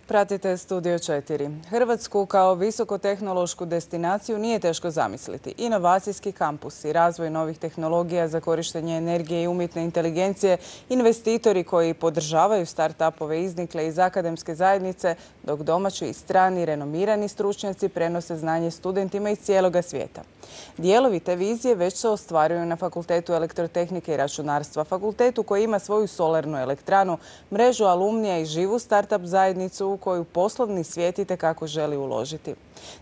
Pratite Studio 4. Hrvatsku kao visokotehnološku destinaciju nije teško zamisliti. Inovacijski kampusi, razvoj novih tehnologija za korištenje energije i umjetne inteligencije, investitori koji podržavaju start-upove iznikle iz akademske zajednice, dok domaći i strani renomirani stručnjaci prenose znanje studentima iz cijeloga svijeta. Dijelovi te vizije već se ostvaruju na Fakultetu elektrotehnike i računarstva, fakultetu koji ima svoju solarnu elektranu, mrežu alumnija i živu start-up zajednicu u koju poslovni svijet itekako želi uložiti.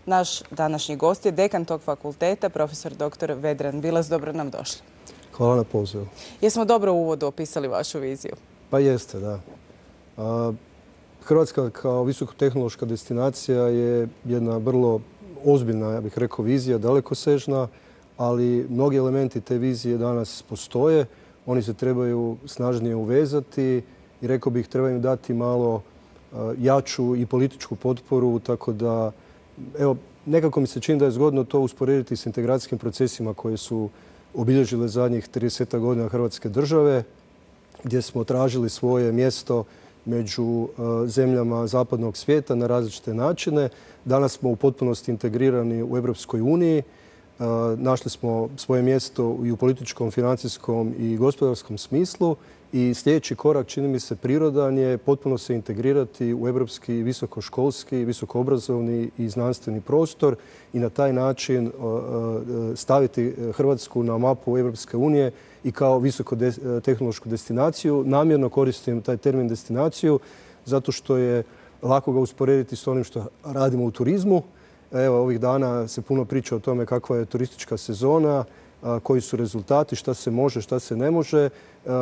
Naš današnji gost je dekan tog fakulteta, profesor dr. Vedran Bilas. Dobro nam došli. Hvala na pozivu. Jesmo dobro u uvodu opisali vašu viziju? Pa jeste, da. Hrvatska kao visokotehnološka destinacija je jedna vrlo ozbiljna, ja bih rekao, vizija, dalekosežna, ali mnogi elementi te vizije danas postoje. Oni se trebaju snažnije uvezati i rekao bih treba im dati malo jaču i političku potporu, tako da evo, nekako mi se čini da je zgodno to usporediti s integracijskim procesima koje su obilježile zadnjih 30 godina Hrvatske države, gdje smo tražili svoje mjesto među zemljama zapadnog svijeta na različite načine. Danas smo u potpunosti integrirani u Europskoj uniji. Našli smo svoje mjesto i u političkom, financijskom i gospodarskom smislu i sljedeći korak, čini mi se prirodan, je potpuno se integrirati u europski visokoškolski, visokoobrazovni i znanstveni prostor i na taj način staviti Hrvatsku na mapu Europske unije i kao visokotehnološku destinaciju. Namjerno koristim taj termin destinaciju zato što je lako ga usporediti s onim što radimo u turizmu. Evo, ovih dana se puno priča o tome kakva je turistička sezona, koji su rezultati, šta se može, šta se ne može.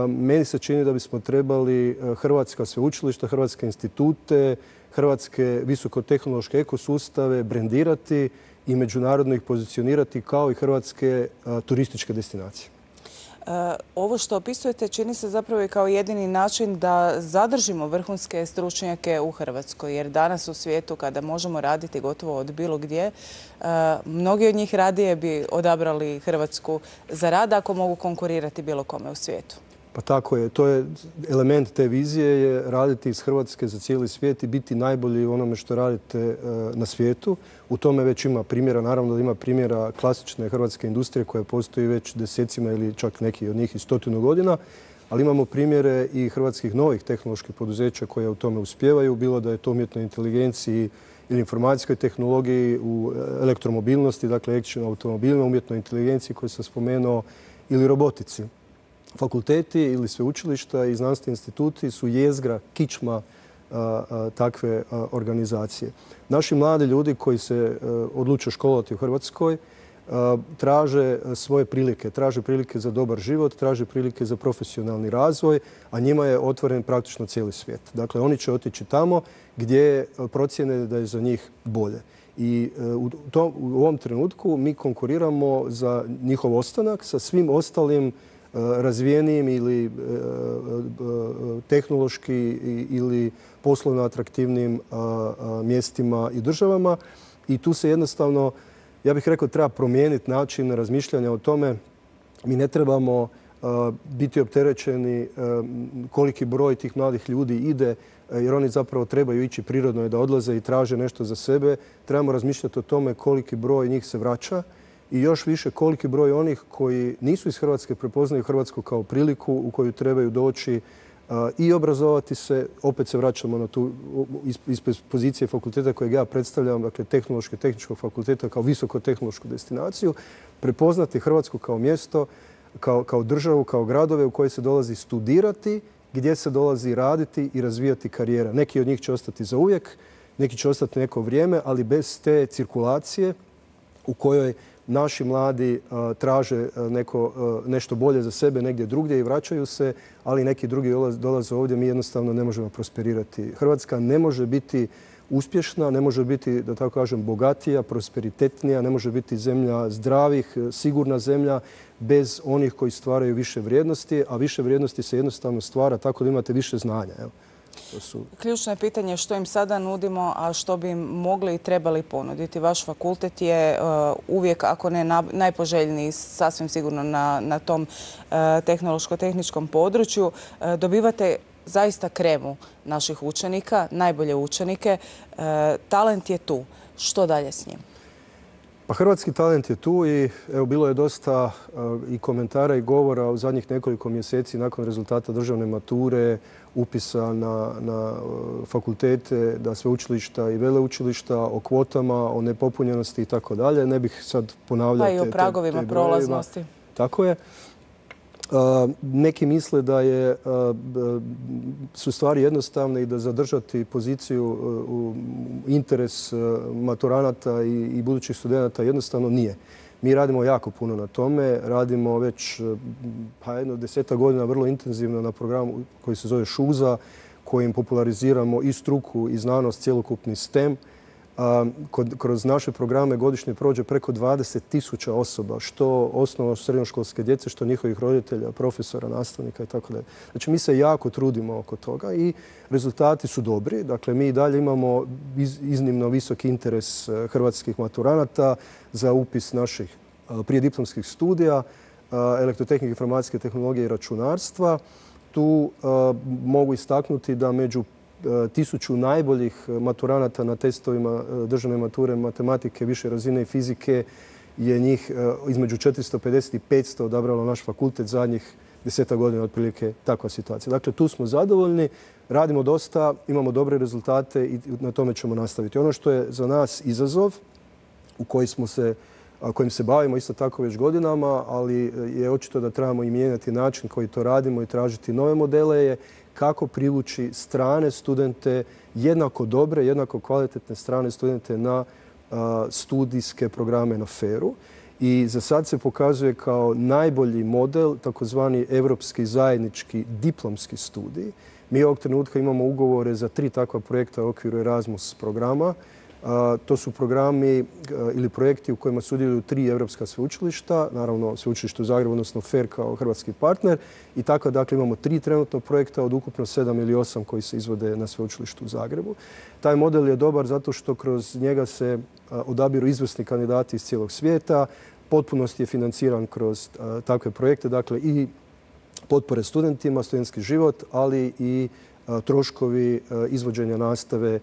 Meni se čini da bismo trebali hrvatska sveučilišta, hrvatske institute, hrvatske visokotehnološke ekosustave brendirati i međunarodno ih pozicionirati kao i hrvatske turističke destinacije. Ovo što opisujete čini se zapravo i kao jedini način da zadržimo vrhunske stručnjake u Hrvatskoj. Jer danas u svijetu kada možemo raditi gotovo od bilo gdje, mnogi od njih radije bi odabrali Hrvatsku za rad ako mogu konkurirati bilo kome u svijetu. Pa tako je. To je element te vizije, je raditi iz Hrvatske za cijeli svijet i biti najbolji u onome što radite na svijetu. U tome već ima primjera, naravno da ima primjera klasične hrvatske industrije koja postoji već desecima ili čak neki od njih i 100 godina, ali imamo primjere i hrvatskih novih tehnoloških poduzeća koje u tome uspijevaju, bilo da je to umjetnoj inteligenciji ili informacijskoj tehnologiji, u elektromobilnosti, dakle električnim automobilima, umjetnoj inteligenciji koju sam spomenuo, ili robotici. Fakulteti ili sveučilišta i znanstveni instituti su jezgra, kičma takve organizacije. Naši mladi ljudi koji se odluče školovati u Hrvatskoj traže svoje prilike. Traže prilike za dobar život, traže prilike za profesionalni razvoj, a njima je otvoren praktično cijeli svijet. Dakle, oni će otići tamo gdje procjene da je za njih bolje. I u ovom trenutku mi konkuriramo za njihov ostanak sa svim ostalim razvijenijim ili tehnološki ili poslovno atraktivnim mjestima i državama. I tu se jednostavno, ja bih rekao, treba promijeniti način razmišljanja o tome. Mi ne trebamo biti opterećeni koliki broj tih mladih ljudi ide, jer oni zapravo trebaju ići prirodno da odlaze i traže nešto za sebe. Trebamo razmišljati o tome koliki broj njih se vraća i još više koliki broj onih koji nisu iz Hrvatske prepoznaju Hrvatsku kao priliku u koju trebaju doći i obrazovati se. Opet se vraćamo na tu iz pozicije fakulteta kojeg ja predstavljam, dakle tehničkog fakulteta kao visokotehnološku destinaciju, prepoznati Hrvatsku kao mjesto, kao državu, kao gradove u koje se dolazi studirati, gdje se dolazi raditi i razvijati karijera. Neki od njih će ostati za uvijek, neki će ostati neko vrijeme, ali bez te cirkulacije u kojoj naši mladi traže nešto bolje za sebe negdje drugdje i vraćaju se, ali neki drugi dolaze ovdje, mi jednostavno ne možemo prosperirati. Hrvatska ne može biti uspješna, ne može biti, da tako kažem, bogatija, prosperitetnija, ne može biti zemlja zdravih, sigurna zemlja bez onih koji stvaraju više vrijednosti, a više vrijednosti se jednostavno stvara tako da imate više znanja. Ključno je pitanje što im sada nudimo, a što bi im mogli i trebali ponuditi. Vaš fakultet je uvijek, ako ne najpoželjniji, sasvim sigurno na tom tehnološko-tehničkom području. Dobivate zaista kremu naših učenika, najbolje učenike. Talent je tu. Što dalje s njim? Pa hrvatski talent je tu i evo, bilo je dosta i komentara i govora u zadnjih nekoliko mjeseci nakon rezultata državne mature, upisa na fakultete, da sveučilišta i veleučilišta, o kvotama, o nepopunjenosti i tako dalje. Ne bih sad ponavljao pa i o pragovima prolaznosti. Tako je. Neki misle da su stvari jednostavne i da zadržati poziciju interes maturanata i budućih studenata jednostavno nije. Mi radimo jako puno na tome, radimo već jedno 10 godina vrlo intenzivno na programu koji se zove ŠUZA, kojim populariziramo i struku i znanost, cjelokupni STEM. Kroz naše programe godišnje prođe preko 20.000 osoba, što osnovno srednjoškolske djece, što njihovih roditelja, profesora, nastavnika i tako dalje. Znači, mi se jako trudimo oko toga i rezultati su dobri. Dakle, mi i dalje imamo iznimno visoki interes hrvatskih maturanata za upis naših prijediplomskih studija, elektrotehnike, informacijske tehnologije i računarstva. Tu mogu istaknuti da među 1000 najboljih maturanata na testovima državne mature matematike više razine i fizike je njih između 450 i 500 odabralo naš fakultet zadnjih 10 godina otprilike takva situacija. Dakle, tu smo zadovoljni, radimo dosta, imamo dobre rezultate i na tome ćemo nastaviti. Ono što je za nas izazov kojim se bavimo isto tako već godinama, ali je očito da trebamo i mijenjati način koji to radimo i tražiti nove modele, je kako privući strane studente, jednako dobre, jednako kvalitetne strane studente na studijske programe na FER-u. I za sad se pokazuje kao najbolji model takozvani evropski zajednički diplomski studij. Mi ovog trenutka imamo ugovore za 3 takva projekta u okviru Erasmus programa. To su programi ili projekti u kojima sudjeluju 3 europska sveučilišta, naravno sveučilište u Zagrebu, odnosno FER kao hrvatski partner. I tako, dakle, imamo 3 trenutno projekta od ukupno 7 ili 8 koji se izvode na sveučilištu u Zagrebu. Taj model je dobar zato što kroz njega se odabiru izvrsni kandidati iz cijelog svijeta. Potpunosti je financiran kroz takve projekte, dakle i potpore studentima, studentski život, ali i troškovi izvođenja nastave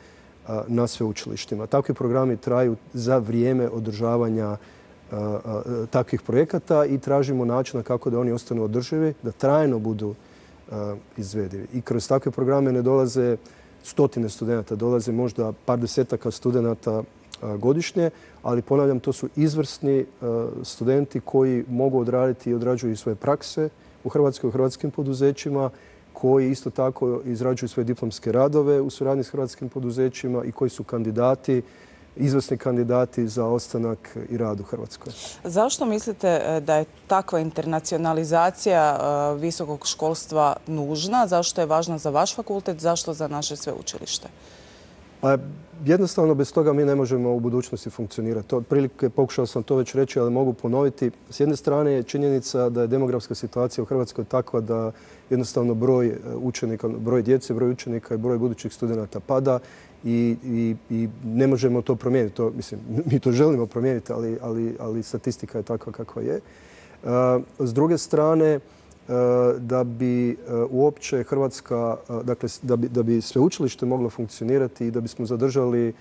na sveučilištima. Takvi programi traju za vrijeme održavanja takvih projekata i tražimo načina kako da oni ostanu održivi, da trajno budu izvedivi. I kroz takve programe ne dolaze stotine studenata, dolaze možda par desetaka studenata godišnje, ali ponavljam, to su izvrsni studenti koji mogu odraditi i odrađuju svoje prakse u Hrvatskoj, u hrvatskim poduzećima, koji isto tako izrađuju svoje diplomske radove u suradnji s hrvatskim poduzećima i koji su kandidati, izvrsni kandidati za ostanak i rad u Hrvatskoj. Zašto mislite da je takva internacionalizacija visokog školstva nužna? Zašto je važna za vaš fakultet? Zašto za naše sveučilište? Pa jednostavno bez toga mi ne možemo u budućnosti funkcionirati. Otprilike pokušao sam to već reći, ali mogu ponoviti. S jedne strane je činjenica da je demografska situacija u Hrvatskoj takva da jednostavno broj učenika, broj djece, broj učenika i broj budućih studenata pada i ne možemo to promijeniti. Mislim, mi to želimo promijeniti, ali statistika je takva kakva je. S druge strane, da bi uopće Hrvatska, dakle da bi sveučilište moglo funkcionirati i da bismo zadržali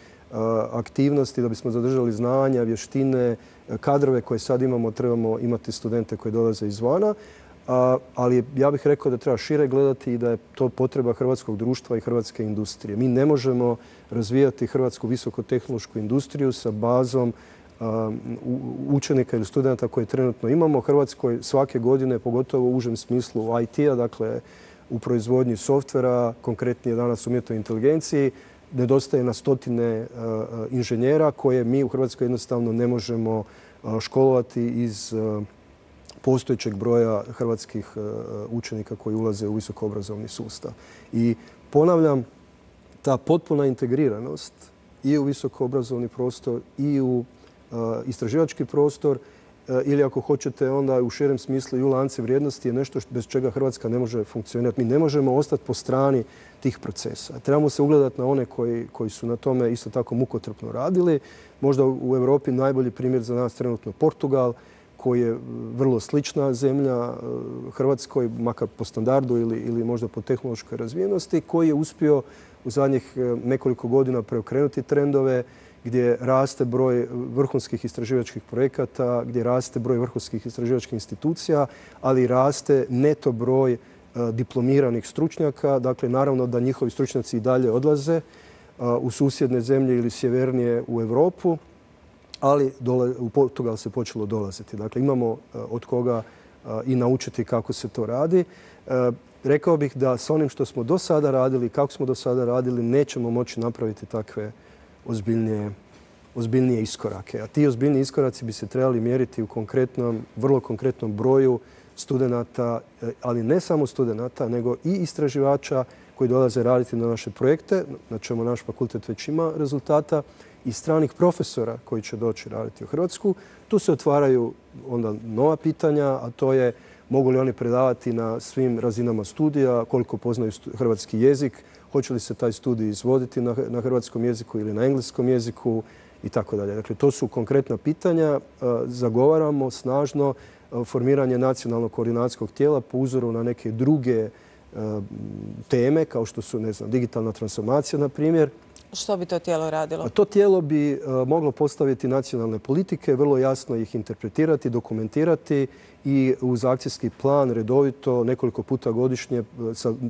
aktivnosti, da bismo zadržali znanja, vještine, kadrove koje sad imamo, trebamo imati studente koji dolaze izvana. Ali ja bih rekao da treba šire gledati i da je to potreba hrvatskog društva i hrvatske industrije. Mi ne možemo razvijati hrvatsku visokotehnološku industriju sa bazom učenika ili studenta koje trenutno imamo. U Hrvatskoj svake godine, pogotovo u užem smislu IT-a, dakle u proizvodnji softvera, konkretnije danas umjetnoj inteligenciji, nedostaje na stotine inženjera koje mi u Hrvatskoj jednostavno ne možemo školovati iz postojećeg broja hrvatskih učenika koji ulaze u visokoobrazovni sustav. I ponavljam, ta potpuna integriranost i u visokoobrazovni prostor i u istraživački prostor ili ako hoćete onda u širem smislu i u lanci vrijednosti je nešto bez čega Hrvatska ne može funkcionirati. Mi ne možemo ostati po strani tih procesa. Trebamo se ugledati na one koji su na tome isto tako mukotrpno radili. Možda u Europi najbolji primjer za nas trenutno Portugal, koji je vrlo slična zemlja Hrvatskoj, makar po standardu ili možda po tehnološkoj razvijenosti, koji je uspio u zadnjih nekoliko godina preokrenuti trendove, gdje raste broj vrhunskih istraživačkih projekata, gdje raste broj vrhunskih istraživačkih institucija, ali raste neto broj diplomiranih stručnjaka. Dakle, naravno da njihovi stručnjaci i dalje odlaze u susjedne zemlje ili sjevernije u Europu, ali u Portugal se počelo dolaziti. Dakle, imamo od koga i naučiti kako se to radi. Rekao bih da s onim što smo do sada radili, kako smo do sada radili, nećemo moći napraviti takve ozbiljnije iskorake. A ti ozbiljniji iskoraci bi se trebali mjeriti u vrlo konkretnom broju studenata, ali ne samo studenata, nego i istraživača koji dolaze raditi na naše projekte, na čemu naš fakultet već ima rezultata, i stranih profesora koji će doći raditi u Hrvatsku. Tu se otvaraju onda nova pitanja, a to je mogu li oni predavati na svim razinama studija, koliko poznaju hrvatski jezik, hoće li se taj studij izvoditi na hrvatskom jeziku ili na engleskom jeziku i tako dalje. Dakle, to su konkretna pitanja. Zagovaramo snažno formiranje nacionalnog koordinacijskog tijela po uzoru na neke druge teme, kao što su, digitalna transformacija, na primjer. Što bi to tijelo radilo? To tijelo bi moglo postaviti nacionalne politike, vrlo jasno ih interpretirati, dokumentirati i uz akcijski plan redovito nekoliko puta godišnje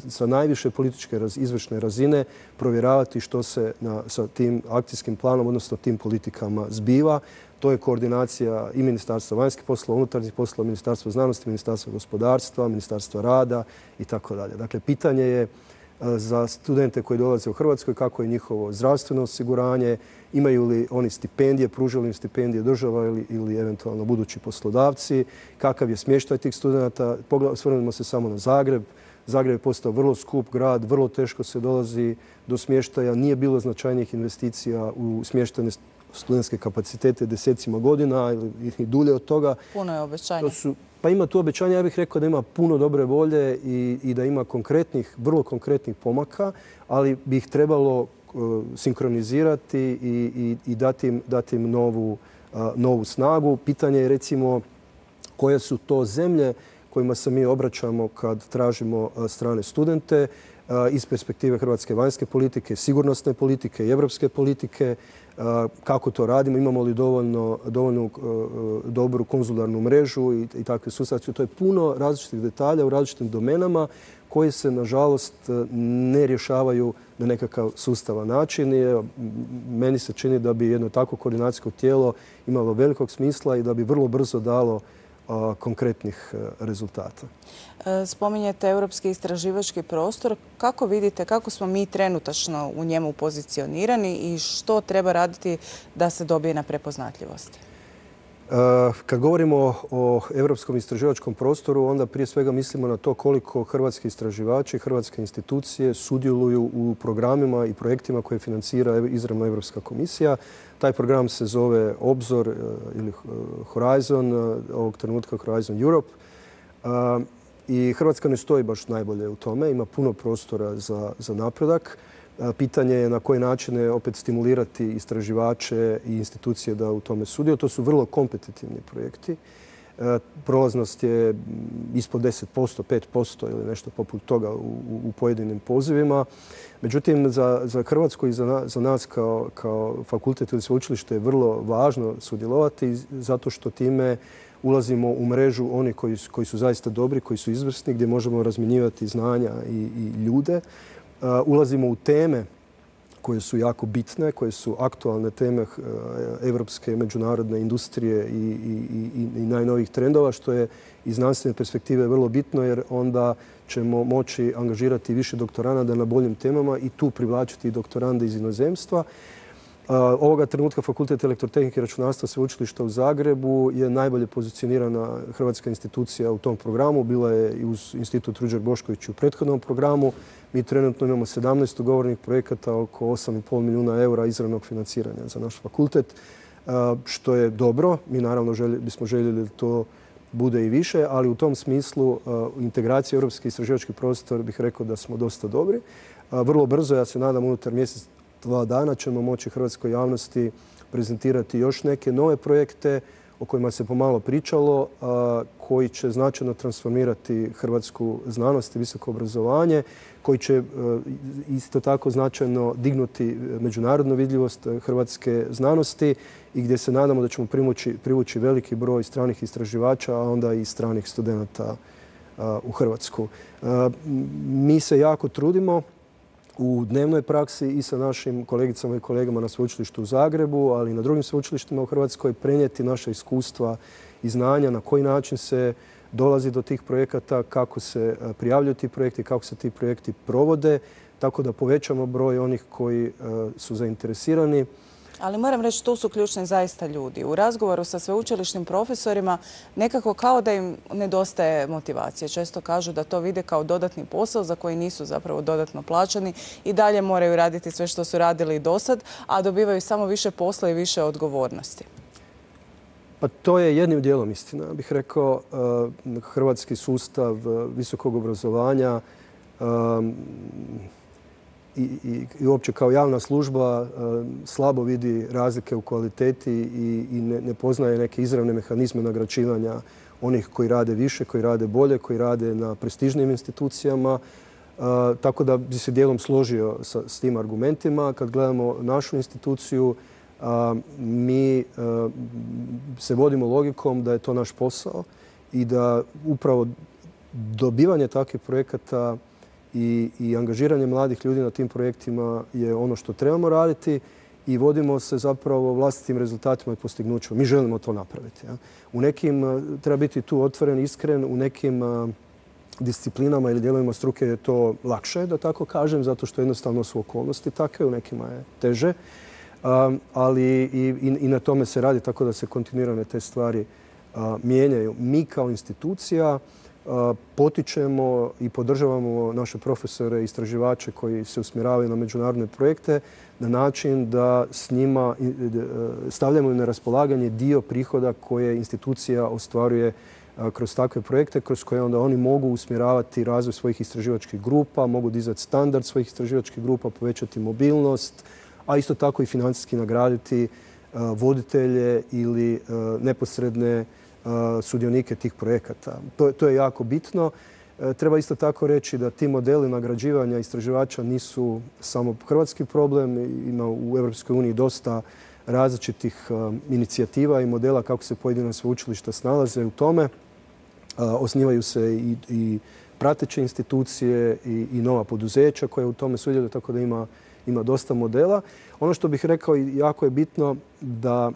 sa najviše političke izvršne razine provjeravati što se sa tim akcijskim planom, odnosno tim politikama zbiva. To je koordinacija i Ministarstva vanjskih poslova, unutarnjih poslova, Ministarstva znanosti, Ministarstva gospodarstva, Ministarstva rada i tako dalje. Dakle, pitanje je za studente koji dolaze u Hrvatskoj kako je njihovo zdravstveno osiguranje, imaju li oni stipendije, pružaju li im stipendije država ili eventualno budući poslodavci, kakav je smještaj tih studenta. Osvrnimo se samo na Zagreb. Zagreb je postao vrlo skup grad, vrlo teško se dolazi do smještaja. Nije bilo značajnijih investicija u smještene studentske kapacitete desecima godina ili dulje od toga. Puno je obećanja. Pa ima tu obećanja, ja bih rekao da ima puno dobre volje i da ima vrlo konkretnih pomaka, ali bi ih trebalo sinkronizirati i dati im novu snagu. Pitanje je recimo koje su to zemlje kojima se mi obraćamo kad tražimo strane studente iz perspektive hrvatske vanjske politike, sigurnosne politike i europske politike. Kako to radimo, imamo li dovoljno dobru konzularnu mrežu i takve sustave. To je puno različitih detalja u različitim domenama koji se, nažalost, ne rješavaju na nekakav sustavan način. Meni se čini da bi jedno takvo koordinacijsko tijelo imalo velikog smisla i da bi vrlo brzo dalo konkretnih rezultata. Spominjete europski istraživački prostor. Kako vidite, kako smo mi trenutačno u njemu pozicionirani i što treba raditi da se dobije na prepoznatljivosti? Kad govorimo o europskom istraživačkom prostoru, onda prije svega mislimo na to koliko hrvatski istraživači, hrvatske institucije sudjeluju u programima i projektima koje financira izravno Europska komisija. Taj program se zove Obzor ili Horizon, ovog trenutka Horizon Europe. I Hrvatska ne stoji baš najbolje u tome, ima puno prostora za napredak. Pitanje je na koji način opet stimulirati istraživače i institucije da u tome sudjeluju. To su vrlo kompetitivni projekti. Prolaznost je ispod 10%, 5% ili nešto poput toga u pojedinim pozivima. Međutim, za Hrvatsku i za nas kao fakultet ili sveučilište je vrlo važno sudjelovati zato što time ulazimo u mrežu onih koji su zaista dobri, koji su izvrsni, gdje možemo razmjenjivati znanja i ljude. Ulazimo u teme koje su jako bitne, koje su aktualne teme evropske međunarodne industrije i najnovijih trendova, što je iz znanstvene perspektive vrlo bitno jer onda ćemo moći angažirati više doktoranada na boljim temama i tu privlačiti doktorande iz inozemstva. Ovoga trenutka Fakultet elektrotehnike i računarstva Sveučilišta u Zagrebu je najbolje pozicionirana hrvatska institucija u tom programu. Bila je i uz Institut Ruđer Bošković u prethodnom programu. Mi trenutno imamo 17 ugovorenih projekata, oko 8,5 milijuna eura izravnog financiranja za naš fakultet, što je dobro. Mi naravno bismo željeli da to bude i više, ali u tom smislu integracija europski istraživački prostor bih rekao da smo dosta dobri. Vrlo brzo, ja se nadam unutar mjesec, 2 dana ćemo moći hrvatskoj javnosti prezentirati još neke nove projekte o kojima se pomalo pričalo, koji će značajno transformirati hrvatsku znanost i visoko obrazovanje, koji će isto tako značajno dignuti međunarodnu vidljivost hrvatske znanosti i gdje se nadamo da ćemo privući veliki broj stranih istraživača, a onda i stranih studenata u Hrvatsku. Mi se jako trudimo u dnevnoj praksi i sa našim kolegicama i kolegama na sveučilištu u Zagrebu, ali i na drugim sveučilištima u Hrvatskoj prenijeti naša iskustva i znanja na koji način se dolazi do tih projekata, kako se prijavljuju ti projekti, kako se ti projekti provode, tako da povećamo broj onih koji su zainteresirani. Ali moram reći, tu su ključni zaista ljudi. U razgovoru sa sveučilišnim profesorima nekako kao da im nedostaje motivacije. Često kažu da to vide kao dodatni posao za koji nisu zapravo dodatno plaćani i dalje moraju raditi sve što su radili i dosad, a dobivaju samo više posla i više odgovornosti. Pa to je jednim dijelom istina. Ja bih rekao, hrvatski sustav visokog obrazovanja i uopće kao javna služba slabo vidi razlike u kvaliteti i ne poznaje neke izravne mehanizme nagrađivanja onih koji rade više, koji rade bolje, koji rade na prestižnim institucijama. Tako da bi se dijelom složio s tim argumentima. Kad gledamo našu instituciju, mi se vodimo logikom da je to naš posao i da upravo dobivanje takvih projekata i angažiranje mladih ljudi na tim projektima je ono što trebamo raditi i vodimo se zapravo vlastitim rezultatima i postignućima. Mi želimo to napraviti. U nekim, treba biti tu otvoren, iskren, u nekim disciplinama ili dijelovima struke je to lakše, da tako kažem, zato što jednostavno su okolnosti takve, u nekima je teže. Ali i na tome se radi, tako da se kontinuirano te stvari mijenjaju. Mi kao institucija potičemo i podržavamo naše profesore i istraživače koji se usmjeravaju na međunarodne projekte na način da s njima stavljamo na raspolaganje dio prihoda koje institucija ostvaruje kroz takve projekte, kroz koje onda oni mogu usmjeravati razvoj svojih istraživačkih grupa, mogu dizati standard svojih istraživačkih grupa, povećati mobilnost, a isto tako i financijski nagraditi voditelje ili neposredne sudionike tih projekata. To je jako bitno. Treba isto tako reći da ti modeli nagrađivanja istraživača nisu samo hrvatski problem. Ima u EU dosta različitih inicijativa i modela kako se pojedina sveučilišta snalaze u tome. Osnivaju se i prateće institucije i nova poduzeća koja u tome sudjeluju, tako da ima dosta modela. Ono što bih rekao i jako je bitno da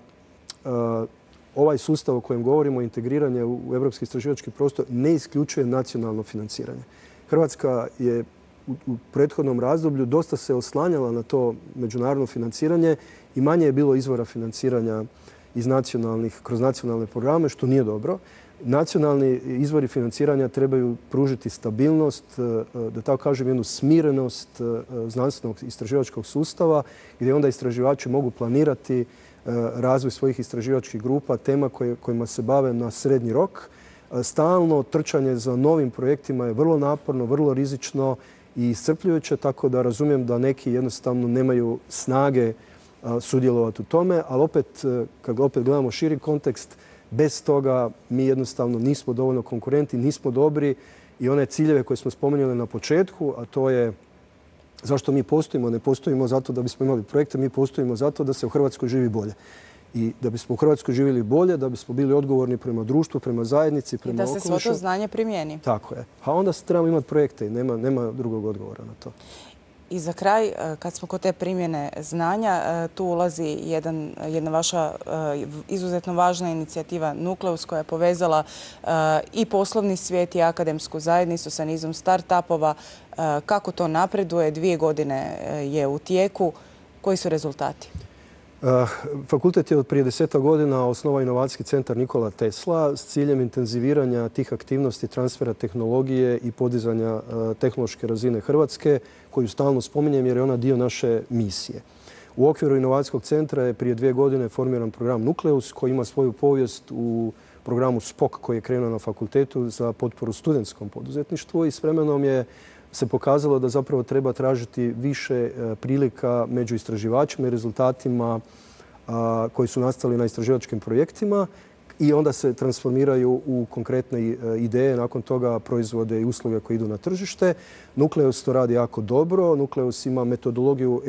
ovaj sustav o kojem govorimo, integriranje u europski istraživački prostor, ne isključuje nacionalno financiranje. Hrvatska je u prethodnom razdoblju dosta se oslanjala na to međunarodno financiranje i manje je bilo izvora financiranja kroz nacionalne programe, što nije dobro. Nacionalni izvori financiranja trebaju pružiti stabilnost, da tako kažem, jednu smirenost znanstvenog istraživačkog sustava gdje onda istraživači mogu planirati razvoj svojih istraživačkih grupa, tema kojima se bave na srednji rok. Stalno trčanje za novim projektima je vrlo naporno, vrlo rizično i iscrpljujuće, tako da razumijem da neki jednostavno nemaju snage sudjelovati u tome, ali kad opet gledamo širi kontekst, bez toga mi jednostavno nismo dovoljno konkurentni, nismo dobri i one ciljeve koje smo spomenuli na početku, a to je zašto mi postojimo. Ne postojimo zato da bismo imali projekte, mi postojimo zato da se u Hrvatskoj živi bolje. I da bismo u Hrvatskoj živjeli bolje, da bismo bili odgovorni prema društvu, prema zajednici, prema okolišu. I da se svo to znanje primijeni. Tako je. A onda trebamo imati projekte i nema drugog odgovora na to. I za kraj, kad smo kod te primjene znanja, tu ulazi jedna vaša izuzetno važna inicijativa Nukleus koja je povezala i poslovni svijet i akademsku zajednicu sa nizom start-upova. Kako to napreduje? 2 godine je u tijeku. Koji su rezultati? Fakultet je od prije 10 godina osnovao inovacijski centar Nikola Tesla s ciljem intenziviranja tih aktivnosti, transfera tehnologije i podizanja tehnološke razine Hrvatske, koju stalno spominjem jer je ona dio naše misije. U okviru inovacijskog centra je prije 2 godine formiran program Nukleus koji ima svoju povijest u programu SPOK koji je krenuo na fakultetu za potporu studentskom poduzetništvu i s vremenom se pokazalo da zapravo treba tražiti više prilika među istraživačima i rezultatima koji su nastali na istraživačkim projektima i onda se transformiraju u konkretne ideje, nakon toga proizvode i usluge koje idu na tržište. Nukleus to radi jako dobro. Nukleus ima metodologiju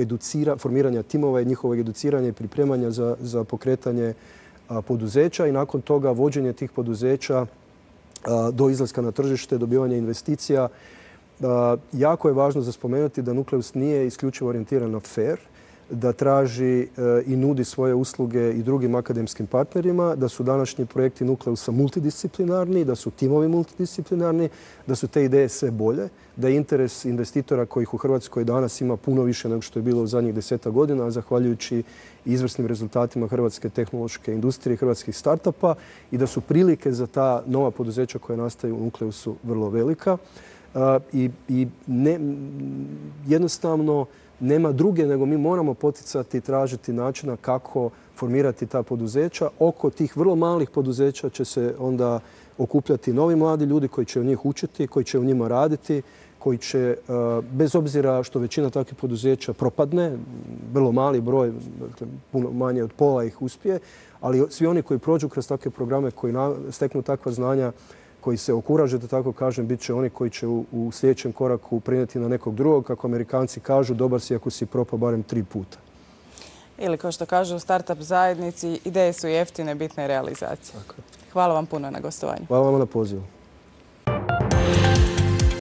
formiranja timova i njihovog educiranja i pripremanja za pokretanje poduzeća i nakon toga vođenje tih poduzeća do izlaska na tržište, dobivanje investicija. Jako je važno za spomenuti da Nukleus nije isključivo orijentiran na fair, da traži i nudi svoje usluge i drugim akademskim partnerima, da su današnji projekti Nukleusa multidisciplinarni, da su timovi multidisciplinarni, da su te ideje sve bolje, da je interes investitora kojih u Hrvatskoj danas ima puno više nego što je bilo u zadnjih 10 godina, zahvaljujući izvrsnim rezultatima hrvatske tehnološke industrije i hrvatskih startupa i da su prilike za ta nova poduzeća koja nastaju u Nukleusu vrlo velika. Jednostavno nema druge nego mi moramo poticati i tražiti načina kako formirati ta poduzeća. Oko tih vrlo malih poduzeća će se onda okupljati novi mladi ljudi koji će u njih učiti, koji će u njima raditi, koji će, bez obzira što većina takvih poduzeća propadne, vrlo mali broj, dakle, puno manje od pola ih uspije, ali svi oni koji prođu kroz takve programe, koji steknu takva znanja, koji se okuraže, da tako kažem, bit će oni koji će u sljedećem koraku prenijeti na nekog drugog. Kako Amerikanci kažu, dobar si ako si propao barem 3 puta. Ili kao što kažu u startup zajednici, ideje su jeftine, bitna je realizacija. Hvala vam puno na gostovanju. Hvala vam na pozivu.